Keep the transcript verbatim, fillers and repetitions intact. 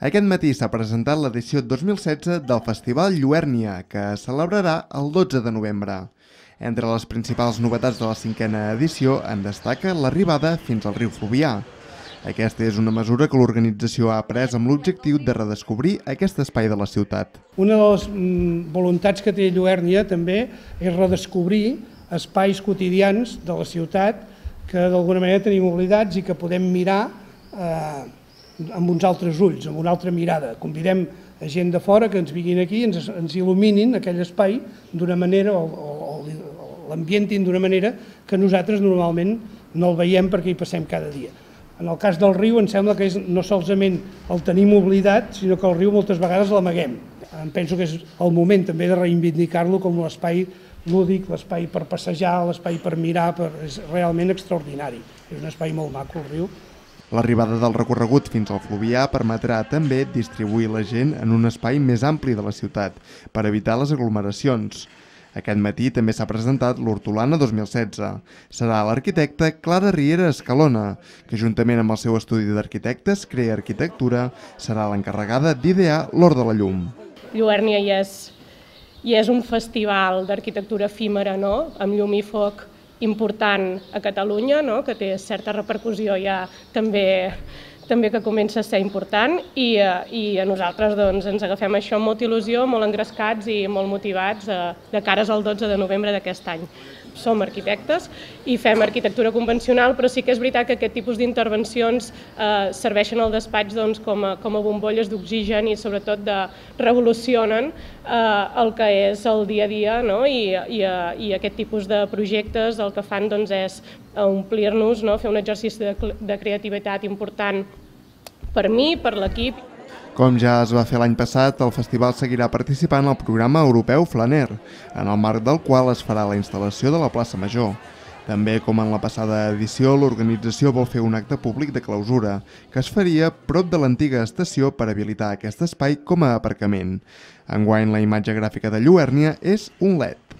Aquest matí s'ha presentat l'edició dos mil setze del Festival Lluèrnia, que es celebrarà el dotze de novembre. Entre les principals novetats de la cinquena edició en destaca l'arribada fins al riu Fluvià. Aquesta és una mesura que l'organització ha pres amb l'objectiu de redescobrir aquest espai de la ciutat. Una de les voluntats que té Lluèrnia també és redescobrir espais quotidians de la ciutat que d'alguna manera tenim oblidats i que podem mirar eh, amb uns altres ulls, amb una altra mirada. Convidem a gent de fora que ens vinguin aquí i ens, ens il·luminin aquell espai d'una manera, o, o, o l'ambientin d'una manera que nosaltres normalment no el veiem perquè hi passem cada dia. En el cas del riu em sembla que és, no solament el tenim oblidat, sinó que el riu moltes vegades l'amaguem. Em penso que és el moment també de reivindicar-lo com l'espai lúdic, l'espai per passejar, l'espai per mirar, per... és realment extraordinari. És un espai molt maco, el riu. L'arribada del recorregut fins al Fluvià permetrà també distribuir la gent en un espai més ampli de la ciutat, per evitar les aglomeracions. Aquest matí també s'ha presentat l'Hortolana dos mil setze. Serà l'arquitecta Clara Riera Escalona, que juntament amb el seu estudi d'arquitectes Crea Arquitectura serà l'encarregada d'idear l'Hort de la Llum. Lluèrnia ja és, ja és un festival d'arquitectura efímera, no? Amb llum i foc important a Catalunya, no? Que té certa repercussió ja també, també que comença a ser important i, i a nosaltres doncs, ens agafem això amb molta il·lusió, molt engrescats i molt motivats eh, de cares al dotze de novembre d'aquest any. Som arquitectes i fem arquitectura convencional, però sí que és veritat que aquest tipus d'intervencions eh, serveixen al despatx doncs, com, a, com a bombolles d'oxigen i sobretot de, revolucionen eh, el que és el dia a dia, no? I, i, i aquest tipus de projectes el que fan doncs, és omplir-nos, no? Fer un exercici de, de creativitat important per mi, per l'equip. Com ja es va fer l'any passat, el festival seguirà participant al programa europeu Flaner, en el marc del qual es farà la instal·lació de la plaça Major. També, com en la passada edició, l'organització vol fer un acte públic de clausura, que es faria prop de l'antiga estació per habilitar aquest espai com a aparcament. Enguany, la imatge gràfica de Lluèrnia és un L E D.